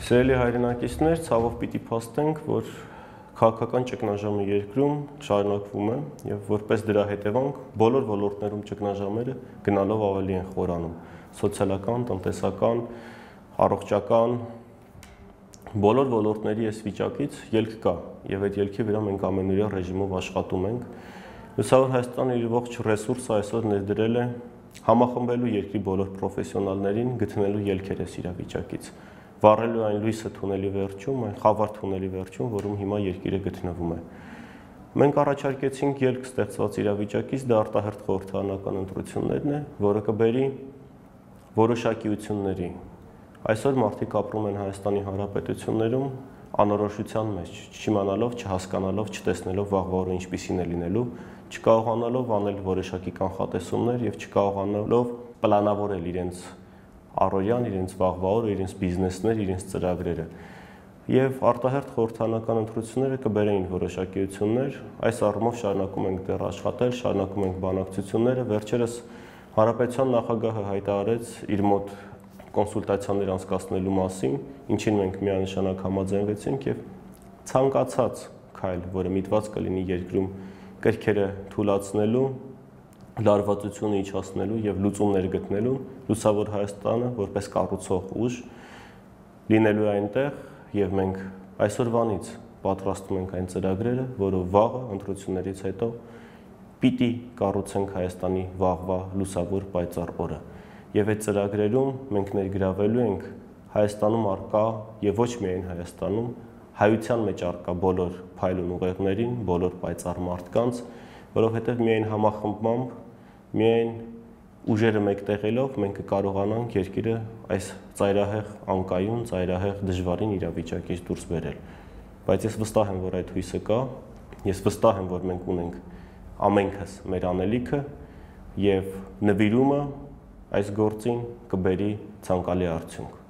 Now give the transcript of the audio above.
Սիրելի հայրենակիցներ, ցավով պիտի փաստենք, որ քաղաքական ճգնաժամը երկրում շարունակվում է եւ որպես դրա հետևանք բոլոր ոլորտներում ճգնաժամերը գնալով ավելի են խորանում։ Սոցիալական, տնտեսական, առողջական բոլոր ոլորտների այս վիճակից ելք կա եւ այդ ելքի վրա մենք ամենօրյա ռեժիմով աշխատում ենք։ Լուսավոր Հայաստանը իր ողջ ռեսուրսը այսօր ներդրել է համախմբելու երկրի բոլոր պրոֆեսիոնալներին գտնելու ելքեր այս իրավիճակից, վառելու այն լույսը թունելի վերջում, այն խավար թունելի վերջում, որում հիմա երկիրը գտնվում է։ Մենք առաջարկեցինք ելք ստեղծված իրավիճակից, դա արտահերթ խորհրդարանական ընտրություններն է, որը կբերի որոշակիությունների։ Այսօր մարդիկ ապրում են Հայաստանի Հանրապետություններում անորոշության մեջ, չիմանալով, չհասկանալով, չտեսնելով վաղվա օրը ինչպիսին է լինելու, չկարողանալով անել որոշակի կանխատեսումներ եւ չկարողանալով պլանավորել իրենց առօրյան, իրենց վաղվա օրը, իրենց բիզնեսներ, իրենց ծրագրերը։ Եվ արտահերթ խորհրդարանական ընտրությունները կբերեին որոշակիություններ, այս առումով շարունակում ենք դեռ աշխատել, շարունակում ենք բանակցությունները, վերջերս Հանրապետության նախագահը հայտարարեց իր մոտ կոնսուլտացիաներ անցկացնելու մասին, ինչին մենք միանշանակ համաձայնվեցինք եւ ցանկացած քայլ, որը միտված կլինի երկրում կրքերը թուլացնելու, լարվածությունը իջացնելու եւ լուծումներ գտնելու, Լուսավոր Հայաստանը որպես կառուցող ուժ լինելու է այնտեղ եւ մենք այսօրվանից պատրաստում ենք այն ծրագրերը, որը վաղը ընտրություններից հետո պիտի կառուցենք Հայաստանի վաղվա լուսավոր պայծառ օրը։ Եվ այդ ծրագրերում մենք ներգրավելու ենք Հայաստանում արկա եւ ոչ միայն Հայաստանում հայության մեջ արկա բոլոր փայլուն ուղեղներին, բոլոր պայծառ մարդկանց, որովհետեւ միայն համախմբմամբ, միայն ուժերը մեկտեղելով մենք կկարողանանք երկիրը այս ծայրահեղ անկայուն, ծայրահեղ դժվարին իրավիճակից դուրս բերել։ Բայց ես վստահ եմ, որ այդ հույսը կա, ես վստահ եմ, որ մենք ունենք ամենքս մեր անելիքը եւ նվիրումը այս գործին կբերի ցանկալի արդյունք։